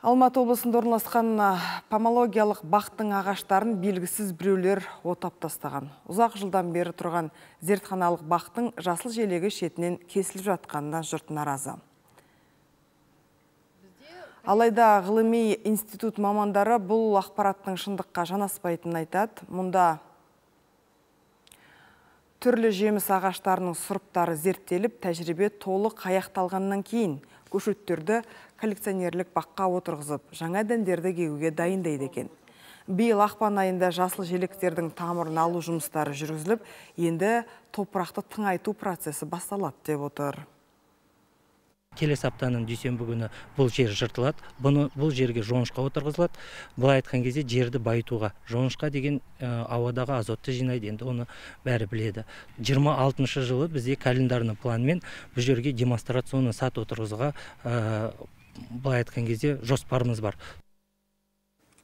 Алматы облысында орналасқан помологиялық бақтың ағаштарын белгісіз біреулер отап тастаған. Ұзақ жылдан бері тұрған зертханалық бақтың жасыл желегі шетінен кесіліп жатқанына жұрт наразы. Алайда ғылыми институт мамандары бұл ақпараттың шындыққа жанаспайтынын айтады. Мұнда түрлі жеміс ағаштарының сұрыптары зерттеліп, тәжірибе толық аяқталғаннан кейін көшеттерді коллекционерлік баққа отырғызып, жаңа дәндерді егуге дайындайды екен. Биыл ақпан айында жасыл желектердің тамырын алу жұмыстары жүргізіліп, енді топырақты тыңайту процесі басталады деп отыр. Келесі аптаның дүйсенбі күні бұл жер жыртылады. Бұл жерге жоңышқа отырғызылады. Былай айтқан кезде жерді байытуға. Жоңышқа деген ауадағы азотты жинайды, енді оны бәрі біледі. 26 жылы бізде календарный планмен бұл жерге демонстрационный сат отырғызуға былай айтқан кезде жоспарымыз бар.